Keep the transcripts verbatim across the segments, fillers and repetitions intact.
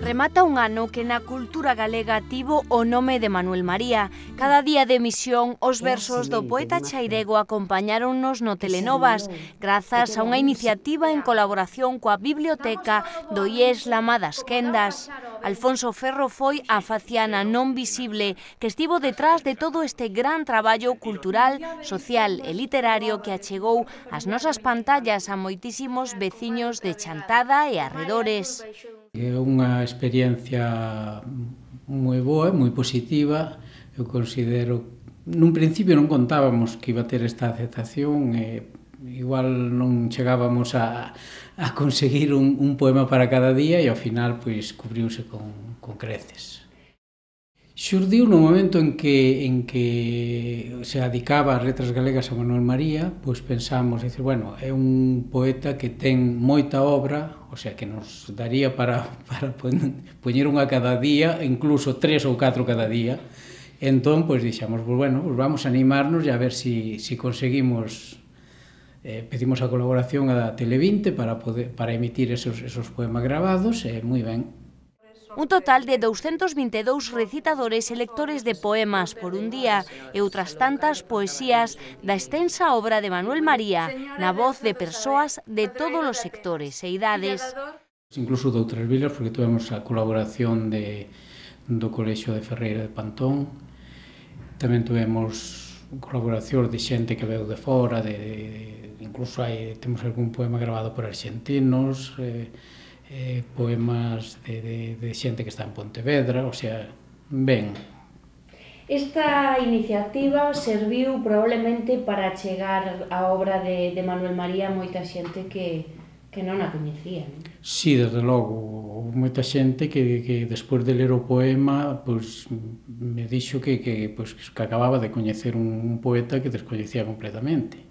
Remata un ano que na cultura galega tivo o nome de Manuel María. Cada día de emisión, os versos do poeta chairego acompañáronnos no Telenovas, grazas a unha iniciativa en colaboración coa Biblioteca do I E S Lama das Quendas. Alfonso Ferro foi a faciana non visible que estivo detrás de todo este gran traballo cultural, social e literario que achegou as nosas pantallas a moitísimos veciños de Chantada e arredores. É unha experiencia moi boa, moi positiva. Eu considero, nun principio non contábamos que iba a ter esta aceptación, e igual non chegábamos a, a conseguir un, un poema para cada día e ao final pois cubriuse con, con creces. Xurdiu no momento en que, en que se adicaba as letras galegas a Manuel María, pois pensamos, dicer, bueno, é un poeta que ten moita obra, o sea, que nos daría para, para poñer unha cada día, incluso tres ou catro cada día. Entón, pois dixamos, pois, bueno, pois vamos a animarnos e a ver si, si conseguimos, eh, pedimos a colaboración a Tele vinte para, poder, para emitir esos, esos poemas grabados, e moi ben. Un total de douscentos vinte e dous recitadores e lectores de poemas por un día e outras tantas poesías da extensa obra de Manuel María na voz de persoas de todos os sectores e idades. Incluso de outras vilas, porque tuvemos a colaboración de, do Colexio de Ferreira de Pantón, tamén tuvemos colaboración de xente que veu de fora, de, de, incluso hai, temos algún poema grabado por argentinos, eh, Eh, poemas de, de, de xente que está en Pontevedra, o sea, ben. Esta iniciativa serviu probablemente para chegar a obra de, de Manuel María a moita xente que, que non a coñecía, non? Sí, desde logo, moita xente que, que despois de ler o poema, pois, me dixo que, que, pois, que acababa de coñecer un, un poeta que descoñecía completamente.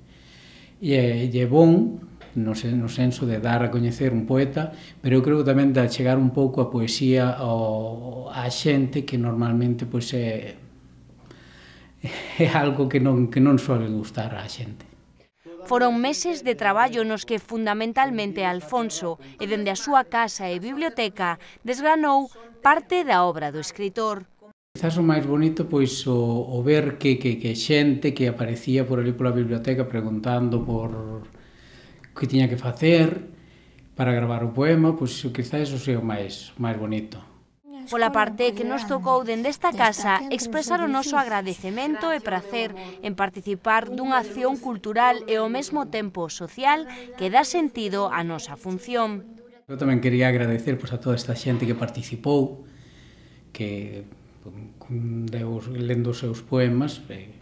E é bon, no senso de dar a coñecer un poeta, pero eu creo que tamén de chegar un pouco a poesía ao, a xente que normalmente pois, é, é algo que non, que non suele gustar á xente. Foron meses de traballo nos que fundamentalmente Alfonso, e dende a súa casa e biblioteca, desgranou parte da obra do escritor. Quizás o máis bonito pois o, o ver que, que, que xente que aparecía por ali pola biblioteca preguntando por que tiña que facer para gravar o poema, pois quizás eso sea o máis, máis bonito. Pola parte que nos tocou dende esta casa expresar o noso agradecemento e prazer en participar dunha acción cultural e ao mesmo tempo social que dá sentido á nosa función. Eu tamén quería agradecer pois, a toda esta xente que participou, que deu, lendo os seus poemas, e,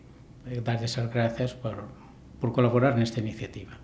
e darles as grazas por, por colaborar nesta iniciativa.